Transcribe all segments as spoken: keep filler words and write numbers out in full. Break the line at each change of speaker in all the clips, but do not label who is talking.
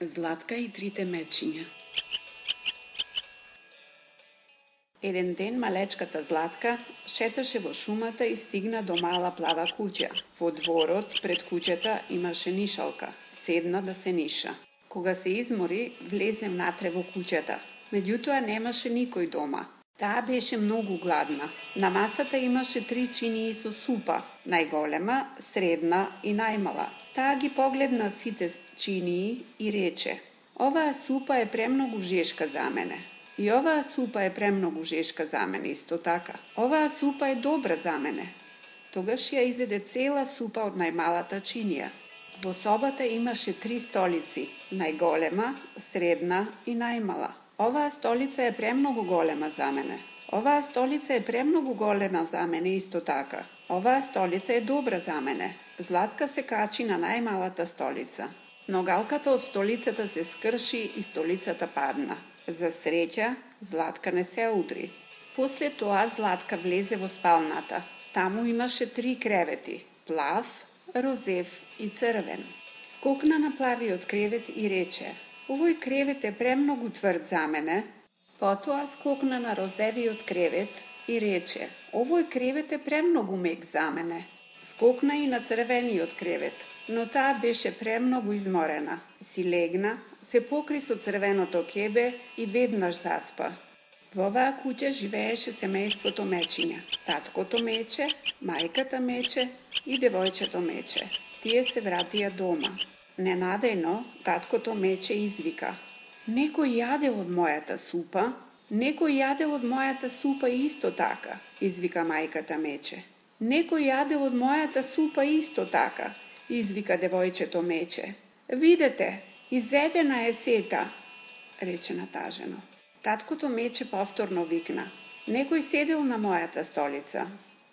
Златка и трите мечиња. Еден ден малечката Златка шеташе во шумата и стигна до мала плава куќа. Во дворот пред куќата имаше нишалка. Седна да се ниша. Кога се измори, влезе внатре во куќата. Меѓутоа немаше никој дома. Таа беше многу гладна. На масата имаше три чинии со супа, најголема, средна и најмала. Таа ги погледна сите чинии и рече: "Оваа супа е премногу жешка за мене. И оваа супа е премногу жешка за мене исто така. Оваа супа е добра за мене." Тогаш ја изеде цела супа од најмалата чинија. Во собата имаше три столици, најголема, средна и најмала. "Оваа столица е премногу голема за мене. Оваа столица е премногу голема за мене исто така. Оваа столица е добра за мене." Златка се качи на најмалата столица. Ногалката од столицата се скрши и столицата падна. За среќа, Златка не се удри. После тоа Златка влезе во спалната. Таму имаше три кревети: плав, розев и црвен. Скокна на плавиот кревет и рече: "Овој кревет е премногу тврд за мене." Потоа скокна на розевиот кревет и рече: "Овој кревет е премногу мек за мене." Скокна и на црвениот кревет, но таа беше премногу изморена. Си легна, се покри со црвеното ќебе и веднаш заспа. Во оваа куќа живееше семејството Мечиња. Таткото Мече, мајката Мече и девојчето Мече. Тие се вратија дома. Ненадејно, таткото Мече извика: "Некој јадел од мојата супа? Некој јадел од мојата супа исто така," извика мајката Мече. "Некој јадел од мојата супа исто така," извика девојчето Мече. "Видете, изедена е сета," рече натажено. Таткото Мече повторно викна: "Некој седел на мојата столица."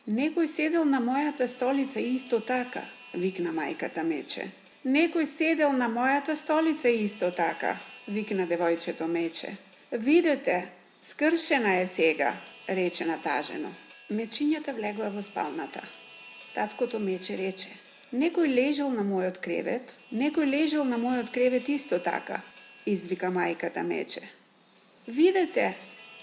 "Некој седел на мојата столица исто така," викна мајката Мече. "Некој седел на мојата столица исто така," викна девојчето Мече. "Видете, скршена е сега," рече натажено. Мечињата влегоа во спалната. Таткото Мече рече: "Некој лежал на мојот кревет, некој лежал на мојот кревет исто така," извика мајката Мече. "Видете,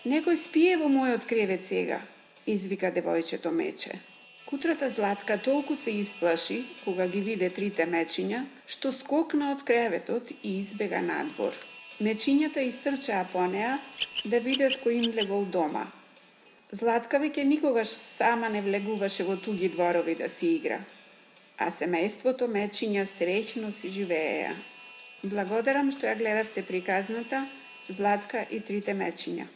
некој спие во мојот кревет сега," извика девојчето Мече. Кутрата Златка толку се исплаши кога ги виде трите мечиња, што скокна од креветот и избега надвор. Мечињата истрчаа по неа да видат кој им легол дома. Златка веќе никогаш сама не влегуваше во туги дворови да си игра, а семејството Мечиња среќно си живееја. Благодарам што ја гледавте приказната Златка и трите мечиња.